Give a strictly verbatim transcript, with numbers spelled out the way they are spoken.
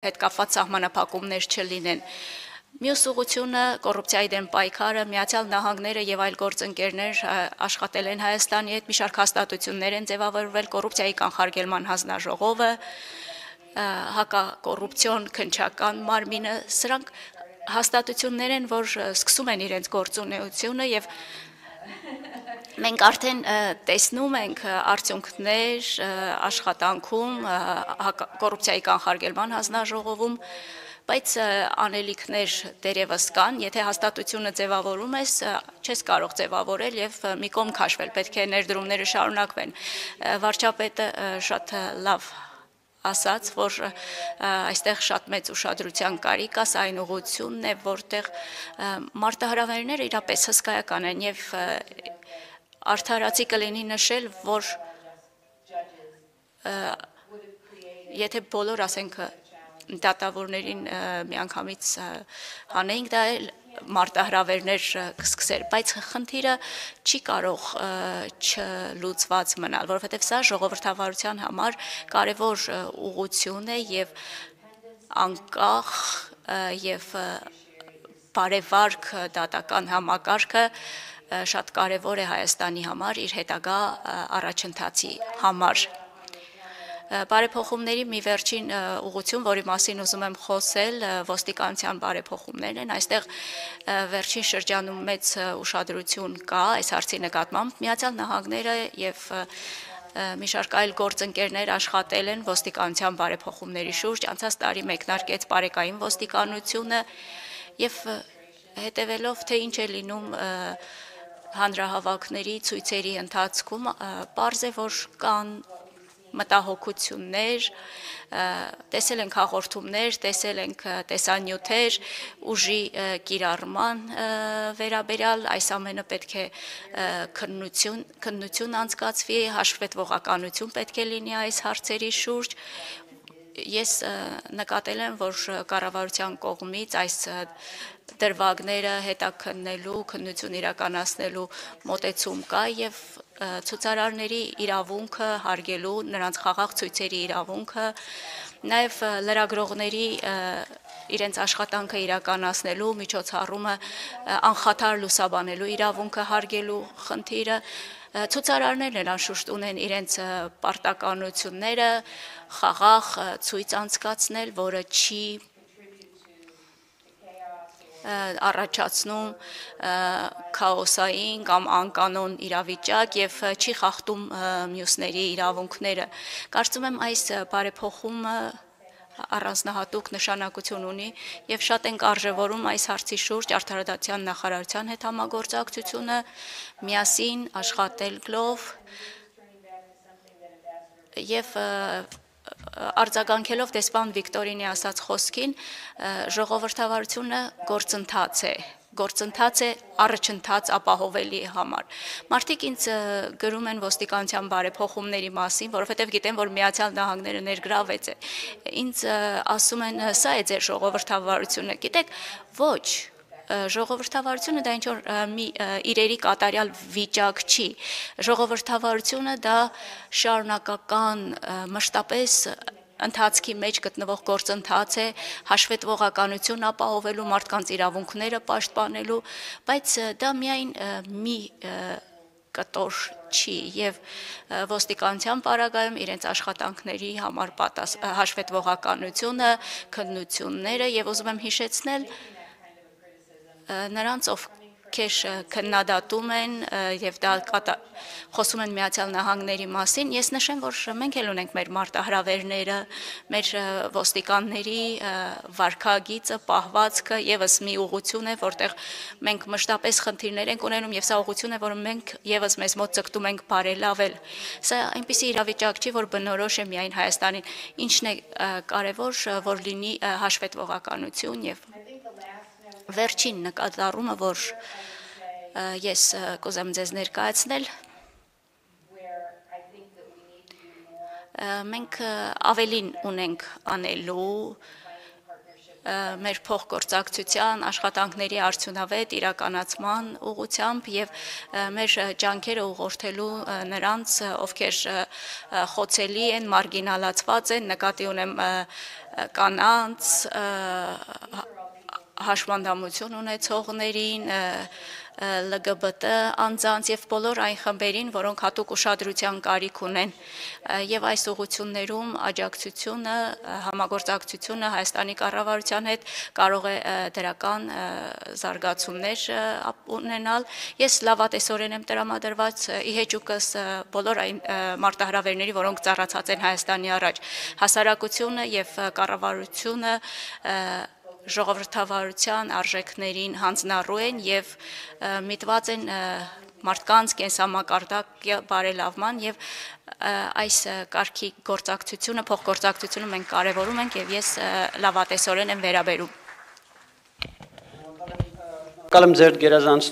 հետ կապված սահմանափակումներ չլինեն։ Մյուս ուղղությունը կոռուպցիայի դեմ պայքարը, Միացյալ Նահանգները եւ այլ գործընկերներ աշխատել են Հայաստանի հետ, մի շարք հաստատություններ են ձևավորվել, կոռուպցիայի կանխարգելման հանձնաժողովը, հակակոռուպցիոն քննչական մարմինը, սրանք հաստատություններ են, որ սկսում են իրենց գործունեությունը եւ մենք արդեն տեսնում ենք արդյունքներ աշխատանքում, կոռուպցիայի կանխարգելման հանձնաժողովում, բայց անելիքներ դերևս կան, եթե հաստատությունը ձևավորում ես, չես կարող ձևավորել եւ մի կողմ քաշվել, պետք է ներդրումները շարունակվեն։ Վարչապետը շատ լավ ասաց, որ այստեղ շատ մեծ ուշադրության կարիք կա, սա այն ուղղությունն է, որտեղ մարտահրավերները իրապես հսկայական են եւ արդարացի կլինի նշել, որ եթե բոլոր, ասենք, դատավորներին միանգամից հանեինք, դա մարտահրավերներ կսկսեր, բայց խնդիրը չի կարող չլուծված մնալ, որովհետև սա ժողովրդավարության համար կարևոր ուղղություն է եւ անկախ եւ բարեվարք դատական համակարգը շատ կարևոր է Հայաստանի համար իր հետագա առաջընթացի համար։ Բարեփոխումների մի վերջին ուղղություն, որի մասին ուզում եմ խոսել, ոստիկանության բարեփոխումներն են, այստեղ վերջին շրջանում մեծ ուշադրություն կա այս հարցի նկատմամբ, Միացյալ Նահանգները եւ մի շարք այլ գործընկերներ աշխատել են ոստիկանության բարեփոխումների շուրջ, անցած տարի մեկնարկեց բարեկային ոստիկանությունը եւ հետեւելով թե ինչ է լինում հանրահավաքների ցույցերի ընթացքում, պարզ է, որ կան մտահոգություններ, տեսել ենք հաղորդումներ, տեսել ենք տեսանյութեր, ուժի կիրառման վերաբերյալ, այս ամենը պետք է քննություն, քննություն անցկացվի, հաշվետվողականություն պետք է լինի այս հարցերի շուրջ։ Ես նկատել եմ, որ կառավարության կողմից այս դրվագները հետաքննելու, քննություն իրականացնելու մոտեցում կա եւ ցուցարարների իրավունքը հարգելու, նրանց խաղաղ ցույցերի իրավունքը, նաեւ լրագրողների իրենց աշխատանքը իրականացնելու, միջոցառումը անխաթար լուսաբանելու իրավունքը հարգելու խնդիրը, ցուցարարներն էլ անշուշտ ունեն իրենց պարտականությունները, խաղաղ ցույց անցկացնել, որը չի առաջացնում քաոսային կամ անկանոն իրավիճակ եւ չի խախտում մյուսների իրավունքները։ Կարծում եմ այս բարեփոխումը առանձնահատուկ նշանակություն ունի եւ շատ ենք արժեվորում այս հարցի շուրջ արդարադատության նախարարության հետ համագործակցությունը, միասին աշխատելով եւ արձագանքելով դեսպան Վիկտորինի ասած խոսքին, ժողովրդավարությունը գործընթաց է, գործընթաց է առաջընթաց ապահովելի համար։ Մարդիկ ինձ գրում են ոստիկանության բարեփոխումների մասին, որովհետև գիտեն, որ Միացյալ Նահանգները ներգրավեց է։ Ինձ ասում են, սա է ձեր ժողովրդավարությունը։ Գիտեք, ոչ, ժողովրդավարությունը դա ինչ-որ մի իրերի կատարյալ վիճակ չի։ Ժողովրդավարությունը դա շարունակական մշտապես ընթացքի մեջ գտնվող գործընթաց է, հաշվետվողականություն ապահովելու, մարդկանց իրավունքները պաշտպանելու, բայց դա միայն մի կտոր չի եւ ոստիկանության պարագայում իրենց աշխատանքների համար հաշվետվողականությունը, քննությունները եւ ուզում եմ հիշեցնել նրանց, ովքեր քննադատում են եւ դա խոսում են Միացյալ Նահանգների մասին, ես նշեմ, որ մենք էլ ունենք մեր մարտահրավերները, մեր ոստիկանների վարքագիծը, պահվածքը եւս մի ուղղություն է, որտեղ մենք մշտապես խնդիրներ ենք ունենում եւ սա ուղղություն է, որը մենք եւս մեզ մոտ ցկտում ենք բարելավել։ Սա այնպիսի իրավիճակ չի, որ բնորոշ է միայն Հայաստանին, ինչն է կարեւոր, որ լինի հաշվետվողականություն եւ վերջին նկատառումը, որ ես կուզեմ ձեզ ներկայացնել, մենք ավելին ունենք անելու մեր փոխգործակցության աշխատանքների արդյունավետ իրականացման ուղղությամբ եւ մեր ջանքերը ուղղորդելու նրանց, ովքեր խոցելի են, մարգինալացված են, նկատի ունեմ կանանց, հաշմանդամություն ունեցողներին, L G B T անձանց եւ բոլոր այն խմբերին, որոնք հատուկ ուշադրության կարիք ունեն եւ այս ուղղություններում աջակցությունը, համագործակցությունը Հայաստանի կառավարության հետ կարող է դրական զարգացումներ ունենալ։ Ես լավատեսորեն եմ տրամադրված ի հեճուկս բոլոր այն մարտահրավերների, որոնք ծառացած են Հայաստանի առաջ, հասարակությունը եւ կառավարությունը ժողովրդավարության արժեքներին հանձնառու են եւ միտված են մարդկանց կենսամակարդակի բարելավման եւ այս կարգի գործակցությունը, փոխգործակցությունը մենք կարեւորում ենք եւ ես լավատեսորեն եմ վերաբերում։ Կալեմ ձեր գերազանցությունը